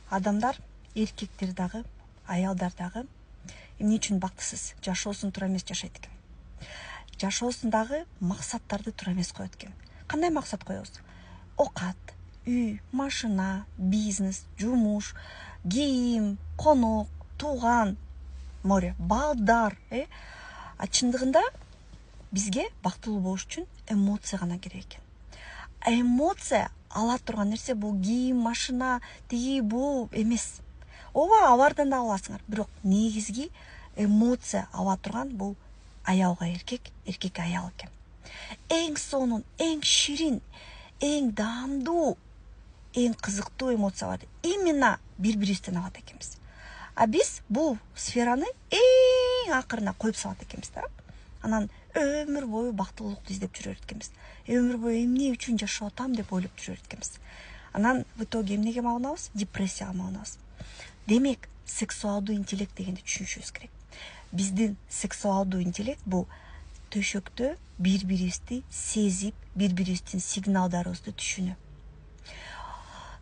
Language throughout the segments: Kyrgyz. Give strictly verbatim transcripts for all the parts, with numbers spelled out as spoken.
адамдар, эркектер дагы, аялдар дагы эмне үчүн бактысыз жашоосун туура эмес жашайт экен. Жашоосун дагы максаттарды туура эмес коет экен. Кандай максат коебуз? Окат, үй, машина, бизнес, жумуш, кийим, конок, тууган, море, балдар, э? А чындыгында бизге бактылуу болуш үчүн эмоция гана керек экен. Эмоция ала турган нерсе бул кийим, машина, тиги бул эмес. Ооба, алардан да аласыңар, бирок негизги эмоция ала турган бул аялга эркек, эркекке аял экен. Эң сонун, эң ширин, эң даамдуу, эң кызыктуу эмоцияларды именно бири-бирибизден алат экенбиз. А биз бул сфераны эң акырына коюп салат экенбиз да. Анан өмүр бою бактылуулукту издеп жүрөр экенбиз. Өмүр бою эмне үчүн жашап атам деп ойлоп жүрөр экенбиз. Анан в итоге эмнеге малынабыз? Депрессияга малынабыз. Демек, сексуалдуу интеллект дегенди түшүнүшүбүз керек. Биздин сексуалдуу интеллект бул төшөктө бири-бирибизди сезип, бири-бирибиздин сигналдарыбызды түшүнүү.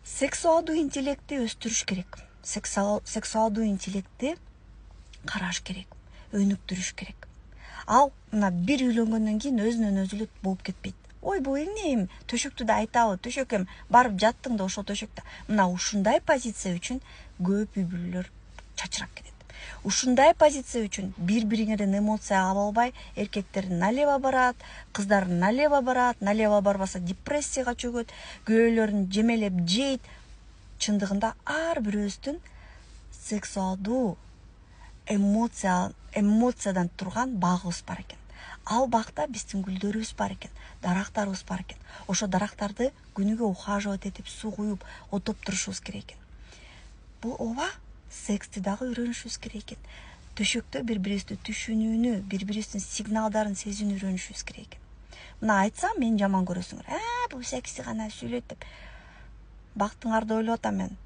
Сексуалдуу интеллектти өстүрүш керек. Сексуалдуу интеллектти караш керек, өнүктүрүш керек. Ал мына бир үйлөнгөндөн кийин өзүнөн өзү эле болуп кетпейт. Ой, бул эмне эми төшөктү да айтабы, төшөк эми барып жаттың да ошол төшөктө. Мына ушундай позиция үчүн көп үй бүлөлөр чачырап кетет. Ушундай позиция үчүн бири-бириңерден эмоция ала албай, эркектер налево барат, кыздар налево барат, налево барбаса депрессияга чөгөт, күйөөлөрүн жемелеп жейт. Чындыгында ар бирөөбүздүн сексуалдуу эмоция эмоциядан турган багыбыз бар экен. Ал багта биздин гүлдөрүбүз бар экен, дарактарыбыз бар экен. Ошо дарактарды күнүгө ухаживать этип, суу куюп, отоп турушубуз керек экен. Бул ооба, сексти дагы үйрөнүшүбүз керек экен. Төшөктө бири-бирибизди түшүнүүнү, бири-бирибиздин сигналдарын сезүүнү үйрөнүшүбүз керек экен. Мына айтсам, мени жаман көрөсүңөр. А, бул секси гана сүйлөйт деп. Бактыңарды ойлоп атам мен.